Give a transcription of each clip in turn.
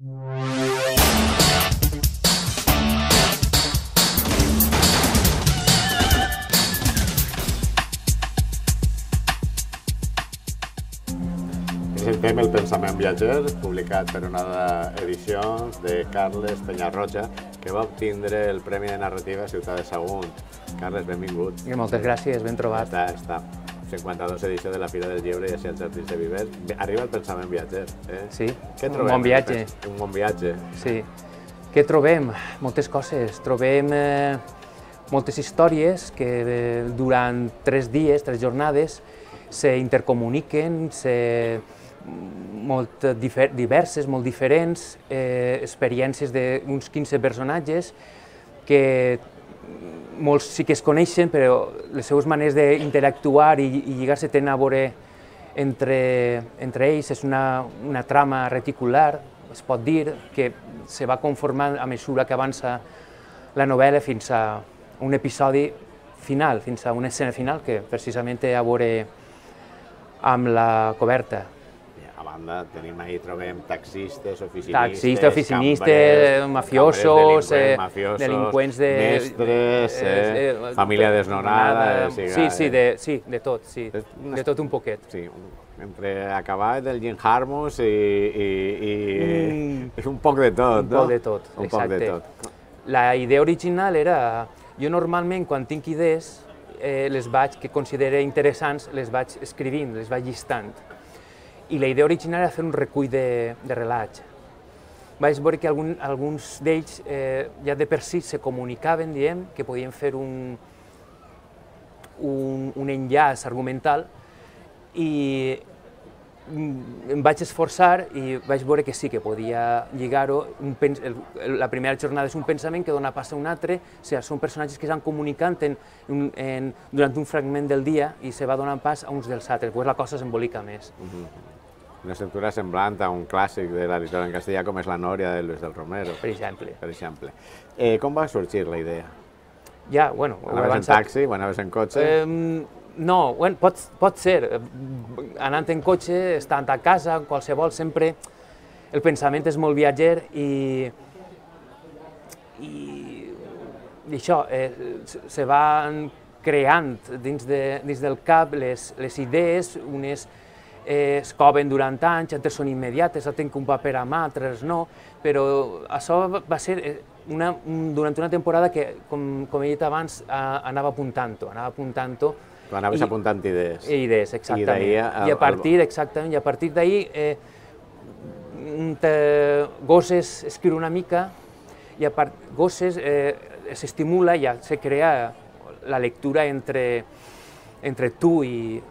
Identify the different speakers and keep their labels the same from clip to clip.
Speaker 1: Presentem El pensament viatger, publicat per Onada Edicions, de Carles Penyarroja, que va obtindre el Premi de Narrativa Ciutat de Sagunt. Carles, benvingut.
Speaker 2: Moltes gràcies, ben trobat.
Speaker 1: Està 52 edició de la Fira del Lleure i així als Jardins de Viver. Arriba el pensament viatger.
Speaker 2: Sí,
Speaker 1: un
Speaker 2: bon viatge.
Speaker 1: Un bon viatge.
Speaker 2: Sí. Què trobem? Moltes coses. Trobem moltes històries que durant 3 dies, 3 jornades, s'intercomuniquen, molt diverses, molt diferents, experiències d'uns 15 personatges que molts sí que es coneixen, però les seves maneres d'interactuar i lligar-se tenen a veure entre ells. És una trama reticular, es pot dir, que se va conformant a mesura que avança la novel·la fins a un episodi final, fins a una escena final que precisament té a veure amb la coberta.
Speaker 1: A banda, trobem taxistes,
Speaker 2: oficinistes, mafiosos, delinqüents,
Speaker 1: mestres, família desnonada...
Speaker 2: Sí, de tot un poquet.
Speaker 1: Sí, entre acabar del Jim Jarmusch i un poc de tot, no?
Speaker 2: Un poc de tot, exacte. La idea original era, jo normalment quan tinc idees, que considero interessants, les vaig escrivint, les vaig llistant. I la idea original era fer un recull de relats. Vaig veure que alguns d'ells ja de per si se comunicaven, diem, que podien fer un enllaç argumental, i em vaig esforçar i vaig veure que sí, que podia lligar-ho. La primera jornada és un pensament que dona pas a un altre, són personatges que s'han comunicant durant un fragment del dia i se va donant pas a uns dels altres, llavors la cosa s'embolica més.
Speaker 1: Una estructura semblant a un clàssic de la literatura en castellà com és La Nòria de Luis del Romero.
Speaker 2: Per exemple.
Speaker 1: Com va sorgir la idea?
Speaker 2: Ja, bueno...
Speaker 1: Anaves en taxi o anaves en cotxe?
Speaker 2: No, pot ser. Anant en cotxe, estant a casa, qualsevol, sempre el pensament és molt viatger i això, se van creant dins del cap les idees, unes es coven durant anys, altres són immediates, altres tenen un paper a mà, altres no, però això va ser durant una temporada que, com he dit abans, anava apuntant-ho.
Speaker 1: Tu anaves apuntant idees.
Speaker 2: Idees, exactament. I a partir d'ahir, Gosses escriu una mica, i a part Gosses s'estimula, ja se crea la lectura entre tu i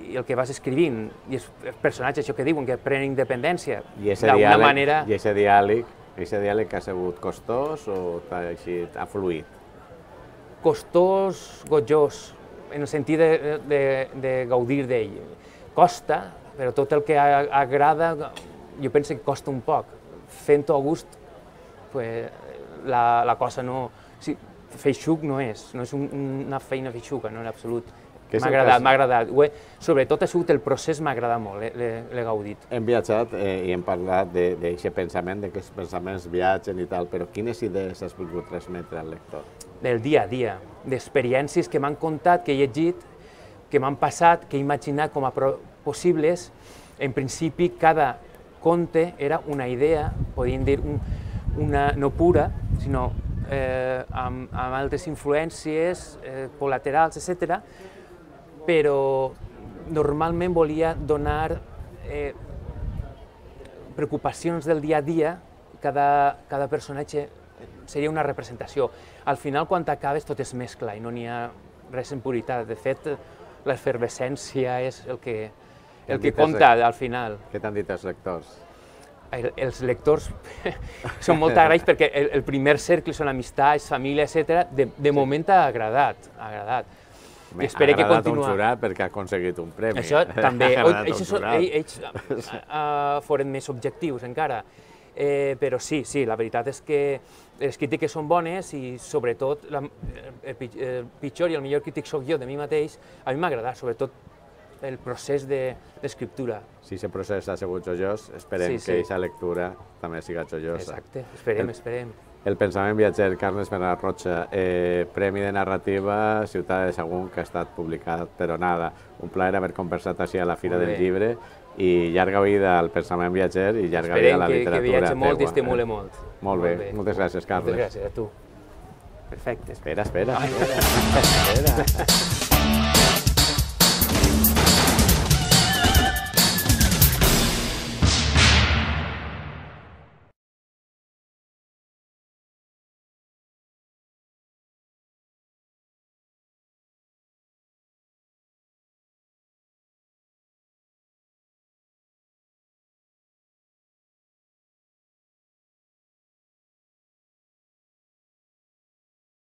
Speaker 2: el que vas escrivint, i els personatges, això que diuen, que prenen independència, d'alguna manera...
Speaker 1: I aquest diàleg ha sigut costós o ha fluït?
Speaker 2: Costós, gojós, en el sentit de gaudir d'ell. Costa, però tot el que agrada, jo penso que costa un poc. Fent-ho a gust, la cosa no... Feixuc no és una feina feixuca, no en absolut. M'ha agradat. Sobretot ha sigut el procés, m'ha agradat molt, l'he gaudit.
Speaker 1: Hem viatjat i hem parlat d'aquest pensament, que els pensaments viatgen i tal, però quines idees has volgut transmetre al lector?
Speaker 2: Del dia a dia, d'experiències que m'han contat, que he llegit, que m'han passat, que he imaginat com a possibles. En principi, cada conte era una idea, podríem dir, no pura, sinó amb altres influències col·laterals, etc. Però normalment volia donar preocupacions del dia a dia, cada personatge seria una representació. Al final, quan acabes, tot es mescla i no n'hi ha res en puritat. De fet, l'efervescència és el que compta al final.
Speaker 1: Què t'han dit els lectors?
Speaker 2: Els lectors són molt agraïts perquè el primer cercle són amistats, família, etc. De moment ha agradat.
Speaker 1: Ha agradat un jurat perquè ha aconseguit un premi.
Speaker 2: Això també. Ells foren més objectius encara. Però sí, la veritat és que les crítiques són bones i sobretot el pitjor i el millor crític soc jo de mi mateix. A mi m'ha agradat, sobretot el procés d'escriptura.
Speaker 1: Si aquest procés ha sigut joiós, esperem que aquesta lectura també siga joiosa.
Speaker 2: Exacte, esperem.
Speaker 1: El pensament viatger, Carles Bernat Rocha, Premi de Narrativa, Ciutat de Sagunt, que ha estat publicat per Onada. Un plaer haver conversat així a la Fira del Llibre i llarga vida al pensament viatger i llarga vida a la literatura.
Speaker 2: Esperem que viatge molt i estimule molt.
Speaker 1: Molt bé, moltes gràcies, Carles.
Speaker 2: Moltes gràcies a tu. Perfecte.
Speaker 1: Espera.